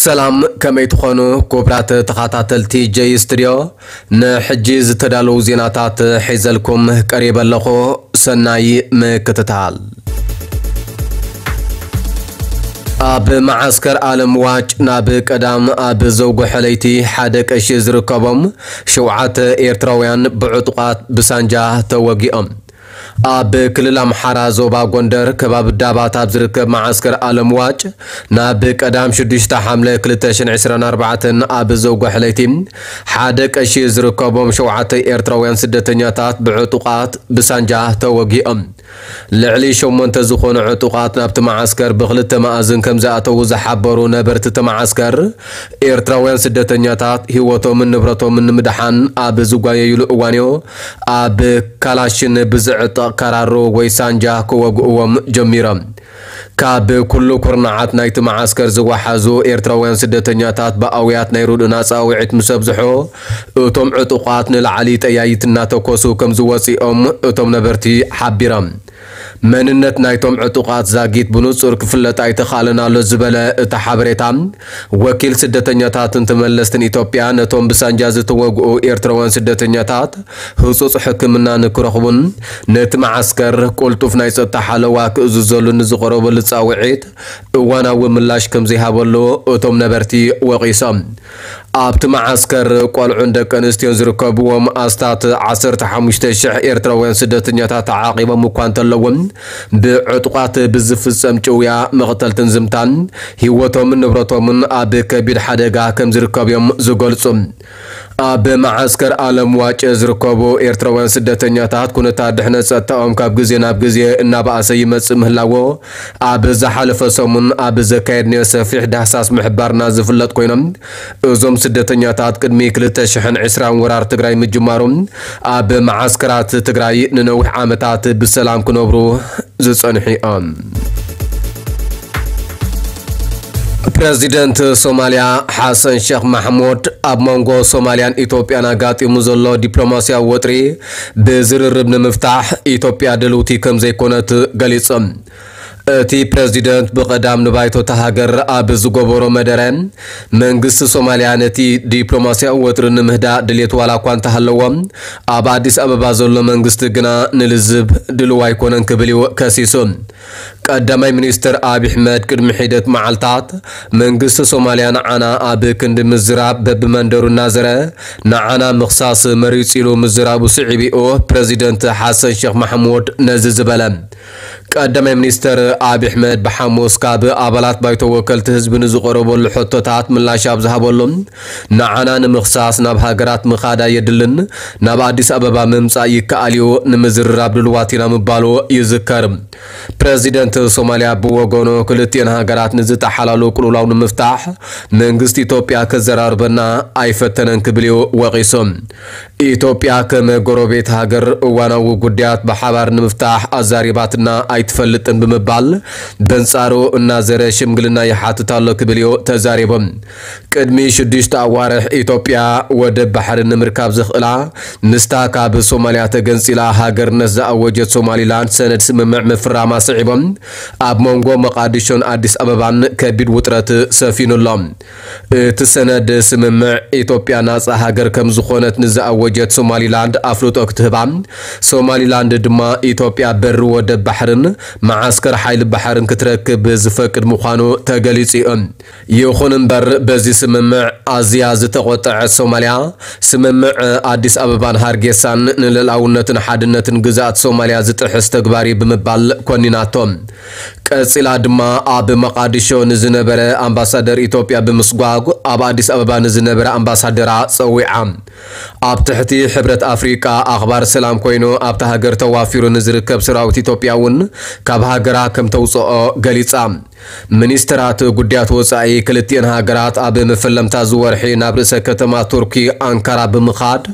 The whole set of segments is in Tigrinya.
ሰላም፣ ከመይ ትኾኑ ክቡራት ተኸታተልቲ ጀይ ስቱድዮ? ንሕጂ ዝተዳለዉ ዜናታት ሒዘልኩም ቀሪበ ኣለኹ። ሰናይ ምክትታል። ኣብ መዓስከር ኣለም ዋጭ ናብ ቀዳም ኣብ ዘውግሖ ለይቲ ሓደ ቀሺ ዝርከቦም ሸውዓተ ኤርትራውያን ብዕጡቓት ብሳንጃ ተወጊኦም። ኣብ ክልል ኣምሓራ ዞባ ጎንደር ከባቢ ዳባት ኣብ ዝርከብ መዓስከር ኣለም ዋጭ ናብ ቀዳም ሽዱሽተ ሓምለ ክልተ ሽሕን ዕስራን ኣርባዕተን ኣብ ዘውግሖ ለይቲ ሓደ ቀሺ ዝርከቦም ሸውዓተ ኤርትራውያን ስደተኛታት ብዕጡቓት ብሳንጃ ተወጊኦም። ልዕሊ ሸሞንተ ዝኾኑ ዕጡቓት ናብቲ መዓስከር ብክልተ መኣዝን ከም ዝኣተዉ ዝሓበሩ ነበርቲ እቲ መዓስከር፣ ኤርትራውያን ስደተኛታት ህይወቶምን ንብረቶምን ንምድሓን ኣብ ዝጓየዩሉ እዋንዮ ኣብ ካላሽን ብዝዕጠቕ ካራሮ ወይ ሳንጃ ክወግእዎም ጀሚሮም። ካብ ኩሉ ኩርናዓት ናይቲ መዓስከር ዝወሓዙ ኤርትራውያን ስደተኛታት ብኣውያት ናይ ርድኡና ጻውዒት ምስ ኣብዝሑ፣ እቶም ዕጡቓት ንላዕሊ ጠያይት እናተኮሱ ከም ዝወጽኦም እቶም ነበርቲ ሓቢሮም። መንነት ናይቶም ዕጡቓት ዛጊት ብንጹር ክፍለጥ ኣይተኻእለን ኣሎ ዝበለ እቲ ሓበሬታ፣ ወኪል ስደተኛታትን ተመለስትን ኢትዮጵያ ነቶም ብሳንጃ ዝተወግኡ ኤርትራውያን ስደተኛታት ህጹጽ ሕክምና ንክረኽቡን ነቲ መዓስከር ቅልጡፍ ናይ ጸጥታ ሓለዋ ክእዝዘሉ ንዝቐረበሉ ጻውዒት እዋናዊ ምላሽ ከም ዘይሃበሉ እቶም ነበርቲ ወቒሶም። ኣብቲ መዓስከር ቆልዑን ደቂ ኣንስትዮን ዝርከብዎም ኣስታት ዓሰርተ ሓሙሽተ ሽሕ ኤርትራውያን ስደተኛታት ተዓቒቦም እኳ እንተለዉ፣ ብዕጡቓት ብዝፍጸም ጭውያ፣ መቕተልትን ዝምታን ህይወቶምን ንብረቶምን ኣብ ከቢድ ሓደጋ ከም ዝርከብ እዮም ዝገልጹ። ኣብ መዓስከር ኣለም ዋጨ ዝርከቡ ኤርትራውያን ስደተኛታት ኩነታት ድሕነት ጸጥታኦም ካብ ግዜ ናብ ግዜ እናበኣሰ ይመጽእ ምህላዎ ኣብ ዝሓለፈ ሰሙን ኣብ ዘካየድናዮ ሰፊሕ ዳህሳስ ምሕባርና ዝፍለጥ ኮይኖም፣ እዞም ስደተኛታት ቅድሚ ክልተ ሽሕን ዕስራን ወራር ትግራይ ምጅማሩ ኣብ መዓስከራት ትግራይ ንነዊሕ ዓመታት ብሰላም ክነብሩ ዝጸንሑ እዮም። ፕረዚደንት ሶማልያ ሓሰን ሸኽ ማሕሙድ ኣብ መንጎ ሶማልያን ኢትዮጵያን ኣጋጢሙ ዘሎ ዲፕሎማስያዊ ወጥሪ ብዝርርብ ንምፍታሕ ኢትዮጵያ ድልውቲ ከም ዘይኮነት ገሊጹ። እቲ ፕረዚደንት ብቐዳም ንባይቶ እታ ሃገር ኣብ ዝገበሮ መደረ፣ መንግስቲ ሶማልያ ነቲ ዲፕሎማስያዊ ወጥሪ ንምህዳእ ድሌት ዋላ እኳ እንተሃለዎ፣ ኣብ ኣዲስ ኣበባ ዘሎ መንግስቲ ግና ንልዝብ ድልው ኣይኮነን ክብል እዩ ከሲሱ። ቀዳማይ ሚኒስትር ኣብይ ኣሕመድ ቅድሚ ሒደት መዓልታት መንግስቲ ሶማልያ ንዓና ኣብ ክንዲ ምዝራብ በብመንደሩ እናዘረ ንዓና ምኽሳስ መሪጹ ኢሉ ምዝራቡ ስዒቡ እዩ ፕረዚደንት ሓሰን ሸኽ ማሕሙድ ነዚ ዝበለ። ቀዳማይ ሚኒስትር ኣብይ ኣሕመድ ብሓሙስ ካብ ኣባላት ባይቶ ወከልቲ ህዝቢ ንዝቐረበሉ ሕቶታት ምላሽ ኣብ ዝሃበሉ፣ ንዓና ንምኽሳስ ናብ ሃገራት ምኻድ ኣየድልን፣ ናብ ኣዲስ ኣበባ ምምጻእ ይከኣል እዩ፣ ንምዝርራብ ድልዋት ኢና ምባሉ ይዝከር። ፕረዚደንት ሶማልያ ብወገኑ ክልቲኤን ሃገራት ንዝጠሓላሉ ቅልውላው ንምፍታሕ መንግስቲ ኢትዮጵያ ከዘራርበና ኣይፈተነን ክብል እዩ ወቒሱ። ኢትዮጵያ ከም ጎረቤት ሃገር እዋናዊ ጉዳያት ብሓባር ንምፍታሕ ኣዛሪባትና ኣይትፈልጥን ብምባል በንጻሩ እናዘረ ሽምግልና ይሓትት ኣሎ ክብል እዩ ተዛሪቡ። ቅድሚ ሽዱሽተ ኣዋርሕ ኢትዮጵያ ወደብ ባሕሪ ንምርካብ ዘኽእላ ምስታ ካብ ሶማልያ ተገንጺላ ሃገርነት ዝኣወጀት ሶማሊላንድ ሰነድ ስምምዕ ምፍራማ ስዒቦም ኣብ መንጎ መቓዲሾን ኣዲስ ኣበባን ከቢድ ውጥረት ሰፊኑ ኣሎ። እቲ ሰነድ ስምምዕ ኢትዮጵያ ናጻ ሃገር ከም ዝኾነት ንዝኣወጀት ሶማሊላንድ ኣፍልጦ ክትህባ፣ ሶማሊላንድ ድማ ኢትዮጵያ በሪ ወደብ ባሕርን መዓስከር ሓይሊ ባሕርን ክትረክብ ዝፈቅድ ምዃኑ ተገሊጹ እዩ። ይኹን እምበር በዚ ስምምዕ ኣዝያ ዝተቖጠዐት ሶማልያ፣ ስምምዕ ኣዲስ ኣበባን ሃርጌሳን ንልኡላውነትን ሓድነትን ግዝኣት ሶማልያ ዝጥሕስ ተግባር እዩ ብምባል ኮኒናቶ። ቀጺላ ድማ ኣብ መቓዲሾ ንዝነበረ ኣምባሳደር ኢትዮጵያ ብምስጓግ ኣብ ኣዲስ ኣበባ ንዝነበረ ኣምባሳደራ ጸዊዓ። ኣብ ትሕቲ ሕብረት ኣፍሪቃ ኣኽባር ሰላም ኮይኑ ኣብታ ሃገር ተዋፊሩ ንዝርከብ ሰራዊት ኢትዮጵያ እውን ካብ ሃገራ ከም ተውጽኦ ገሊጻ። ሚኒስትራት ጉዳያት ወጻኢ ክልቲኤን ሃገራት ኣብ መፈለምታ ዝወርሒ ናብ ርእሰ ከተማ ቱርኪ ኣንካራ ብምኻድ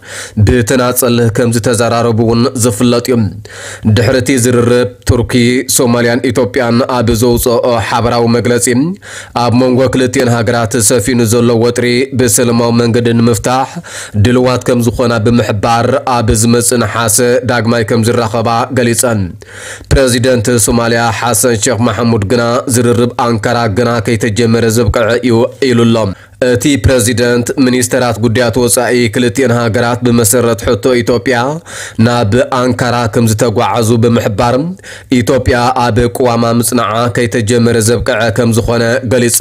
ብተናጸል ከም ዝተዘራረቡ እውን ዝፍለጥ እዩ። ድሕሪ እቲ ዝርርብ ቱርኪ፣ ሶማልያን ኢትዮጵያን ኣብ ዘውፅኦ ሓበራዊ መግለፂ፣ ኣብ መንጎ ክልቲኤን ሃገራት ሰፊኑ ዘሎ ወጥሪ ብሰላማዊ መንገዲ ንምፍታሕ ድልዋት ከም ዝኾና ብምሕባር፣ ኣብ ዝመጽእ ነሓሰ ዳግማይ ከም ዝራኸባ ገሊጸን። ፕረዚደንት ሶማልያ ሓሰን ሼክ መሐሙድ ግና፣ ዝርርብ ኣንካራ ግና ከይተጀመረ ዘብቅዐ እዩ ኢሉ ኣሎ። እቲ ፕረዚደንት፣ ሚኒስተራት ጉዳያት ወጻኢ ክልቲኤን ሃገራት ብመሰረት ሕቶ ኢትዮጵያ ናብ ኣንካራ ከም ዝተጓዓዙ ብምሕባር፣ ኢትዮጵያ ኣብ ቅዋማ ምጽናዓ ከይተጀመረ ዘብቅዐ ከም ዝኾነ ገሊጹ።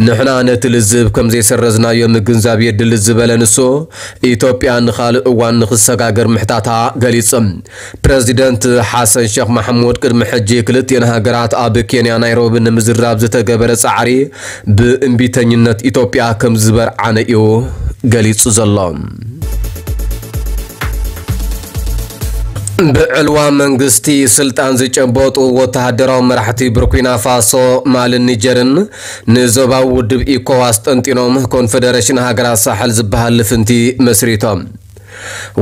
ንሕና ነቲ ልዝብ ከም ዘይሰረዝናዮ ምግንዛብ የድሊ ዝበለ ንሱ፣ ኢትዮጵያ ንኻልእ እዋን ንኽሰጋገር ምሕታታ ገሊጹ። ፕረዚደንት ሓሰን ሸኽ ማሕሙድ ቅድሚ ሕጂ ክልቲኤን ሃገራት ኣብ ኬንያ ናይሮቢ ንምዝራብ ዝተገበረ ጻዕሪ ብእምቢተኝነት ኢትዮጵያ ከም ዝበርዓነ እዩ ገሊጹ ዘሎ። ብዕልዋ መንግስቲ ስልጣን ዝጨበጡ ወተሃደራዊ መራሕቲ ቡርኪና ፋሶ፣ ማልን ኒጀርን ንዞባዊ ውድብ ኢኮዋስ ጠንጢኖም ኮንፈደሬሽን ሃገራት ሳሕል ዝበሃል ልፍንቲ መስሪቶም።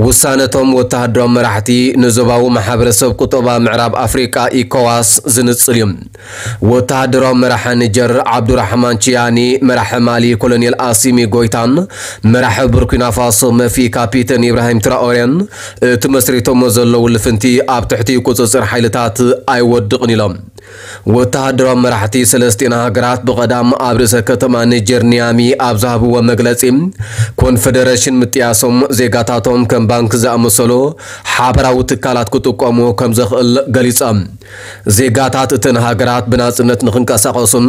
ውሳነቶም ወተሃደራዊ መራሕቲ ንዞባዊ ማሕበረሰብ ቁጠባ ምዕራብ ኣፍሪቃ ኢኮዋስ ዝንጽል እዩ። ወተሃደራዊ መራሒ ኒጀር ዓብዱራሕማን ቺያኒ፣ መራሒ ማሊ ኮሎኔል ኣሲሚ ጎይታን መራሒ ቡርኪና ፋሶ መፊ ካፒተን ኢብራሂም ትራኦሬን እቲ መስሪቶሞ ዘለዉ ልፍንቲ ኣብ ትሕቲ ቁጽጽር ሓይልታት ኣይወድቕን ኢሎም። ወተሃደራዊ መራሕቲ ሰለስቲኤን ሃገራት ብቐዳም ኣብ ርእሰ ከተማ ኒጀር ኒያሚ ኣብ ዝሃብዎ መግለጺ፣ ኮንፈደሬሽን ምጥያሶም ዜጋታቶም ከም ባንክ ዝኣመሰሉ ሓበራዊ ትካላት ክጥቀሙ ከም ዘኽእል ገሊጾም። ዜጋታት እተን ሃገራት ብናጽነት ንኽንቀሳቐሱን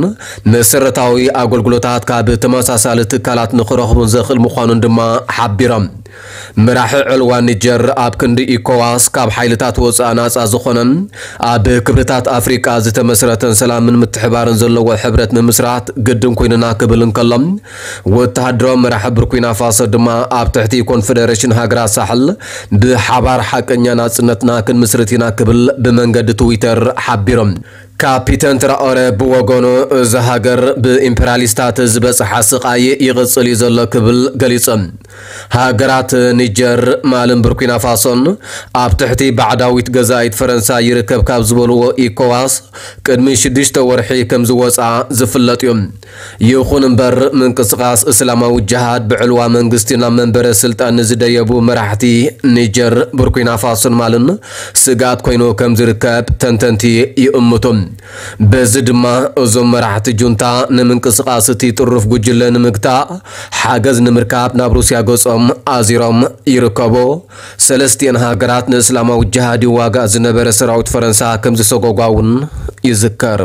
መሰረታዊ ኣገልግሎታት ካብ ተመሳሳሊ ትካላት ንኽረኽቡን ዘኽእል ምዃኑን ድማ ሓቢሮም። መራሒ ዕልዋ ኒጀር ኣብ ክንዲ ኢኮዋስ ካብ ሓይልታት ወጻኢ ናጻ ዝኾነን ኣብ ክብርታት ኣፍሪቃ ዝተመስረተን ሰላምን ምትሕባርን ዘለዎ ሕብረት ምምስራት ግድን ኮይኑና ክብል እንከሎ፣ ወተሃደራዊ መራሒ ቡርኪና ፋሶ ድማ ኣብ ትሕቲ ኮንፈደሬሽን ሃገራት ሳሕል ብሓባር ሓቀኛ ናጽነትና ክንምስርት ኢና ክብል ብመንገዲ ትዊተር ሓቢሮም። ካፒተን ትራኦረ ብወገኑ፣ እዛ ሃገር ብኢምፔርያሊስታት ዝበጽሓ ስቓይ ይቕጽል እዩ ዘሎ ክብል ገሊጹ። ሃገራት ኒጀር፣ ማልን ቡርኪና ፋሶን ኣብ ትሕቲ ባዕዳዊት ገዛኢት ፈረንሳ ይርከብ ካብ ዝበልዎ ኢኮዋስ ቅድሚ ሽዱሽተ ወርሒ ከም ዝወጻ ዝፍለጥ እዩ። ይኹን እምበር፣ ምንቅስቓስ እስላማዊ ጅሃድ ብዕልዋ መንግስቲ ናብ መንበረ ስልጣን ንዝደየቡ መራሕቲ ኒጀር፣ ቡርኪና ፋሶን ማልን ስግኣት ኮይኑ ከም ዝርከብ ተንተንቲ ይእምቱ። በዚ ድማ፣ እዞም መራሕቲ ጁንታ ንምንቅስቓስ እቲ ጥሩፍ ጉጅለ ንምግታእ ሓገዝ ንምርካብ ናብ ሩስያ ገጾም ኣዚሮም ይርከቡ። ሰለስቲኤን ሃገራት ንእስላማዊ ጅሃድ ይዋጋእ ዝነበረ ሰራዊት ፈረንሳ ከም ዝሰጎጓ እውን ይዝከር።